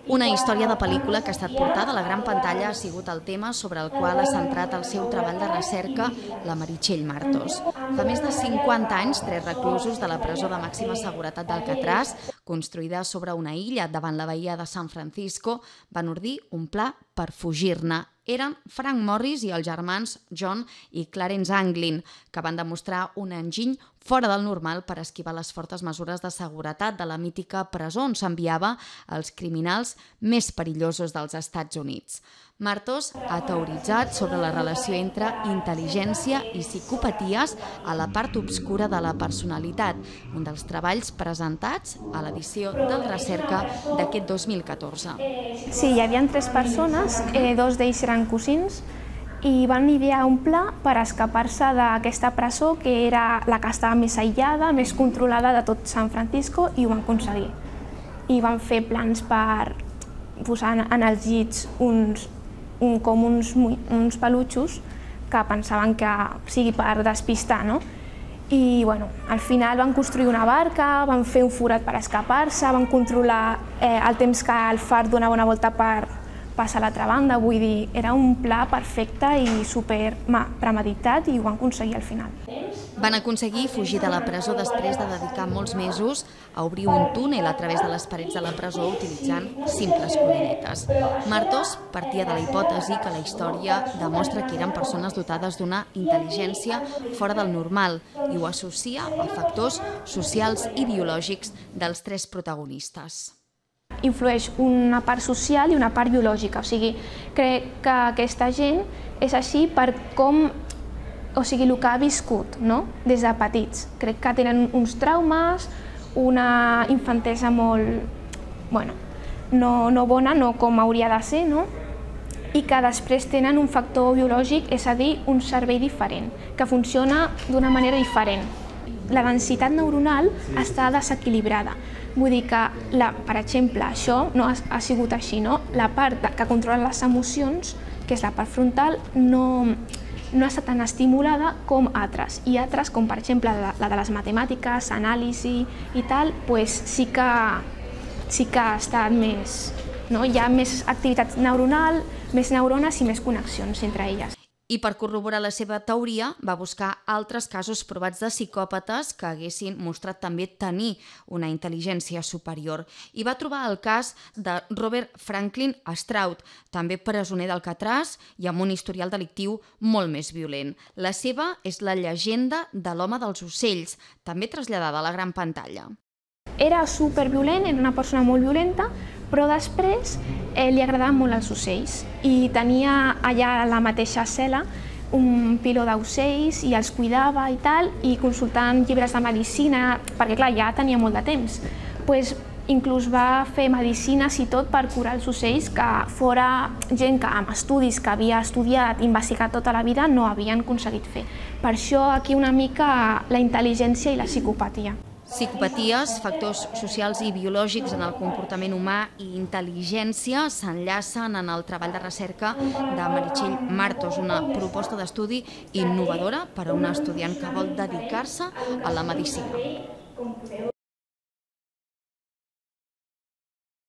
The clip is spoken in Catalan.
Una història de pel·lícula que ha estat portada a la gran pantalla ha sigut el tema sobre el qual ha centrat el seu treball de recerca la Meritxell Martos. Fa més de 50 anys, 3 reclusos de la presó de màxima seguretat d'Alcatraz, construïda sobre una illa davant la bahia de San Francisco, van ordir un pla per fugir-ne. Eren Frank Morris i els germans John i Clarence Anglin, que van demostrar un enginy fora del normal per esquivar les fortes mesures de seguretat de la mítica presó on s'enviava els criminals més perillosos dels Estats Units. Martos ha teoritzat sobre la relació entre intel·ligència i psicopaties a la part obscura de la personalitat, un dels treballs presentats a l'edició del Recerca d'aquest 2014. Sí, hi havia 3 persones, 2 d'ells eren cosins, i van idear un pla per escapar-se d'aquesta presó que era la que estava més aïllada, més controlada de tot San Francisco, i ho van aconseguir. I van fer plans per posar en els llits uns pelutxos que pensaven que sigui per despistar, no? I al final van construir una barca, van fer un forat per escapar-se, van controlar el temps que el far donava una volta per passar a l'altra banda, vull dir, era un pla perfecte i super premeditat i ho van aconseguir al final. Van aconseguir fugir de la presó després de dedicar molts mesos a obrir un túnel a través de les parets de la presó utilitzant simples colinetes. Martos partia de la hipòtesi que la història demostra que eren persones dotades d'una intel·ligència fora del normal i ho associa a factors socials i biològics dels 3 protagonistes. Influeix una part social i una part biològica, o sigui, crec que aquesta gent és així per com, o sigui, el que ha viscut, no?, des de petits. Crec que tenen uns traumes, una infantesa molt, no bona, no com hauria de ser, no?, i que després tenen un factor biològic, és a dir, un cervell diferent, que funciona d'una manera diferent. La densitat neuronal està desequilibrada. Vull dir que, per exemple, això no ha sigut així, no? La part que controla les emocions, que és la part frontal, no està tan estimulada com altres. I altres, com per exemple la de les matemàtiques, anàlisi i tal, sí que ha estat més... Hi ha més activitat neuronal, més neurones i més connexions entre elles. I per corroborar la seva teoria va buscar altres casos provats de psicòpates que haguessin mostrat també tenir una intel·ligència superior. I va trobar el cas de Robert Franklin Stroud, també presoner d'Alcatraz i amb un historial delictiu molt més violent. La seva és la llegenda de l'home dels ocells, també traslladada a la gran pantalla. Era superviolent, era una persona molt violenta, però després li agradaven molt els ocells i tenia allà a la mateixa cel·la un piló d'ocells i els cuidava i tal, i consultant llibres de medicina, perquè clar, ja tenia molt de temps. Inclús va fer medicines i tot per curar els ocells, que fora gent que amb estudis que havia estudiat i investigat tota la vida no havien aconseguit fer. Per això aquí una mica la intel·ligència i la psicopatia. Psicopaties, factors socials i biològics en el comportament humà i intel·ligència s'enllacen en el treball de recerca de Meritxell Martos, una proposta d'estudi innovadora per a un estudiant que vol dedicar-se a la medicina.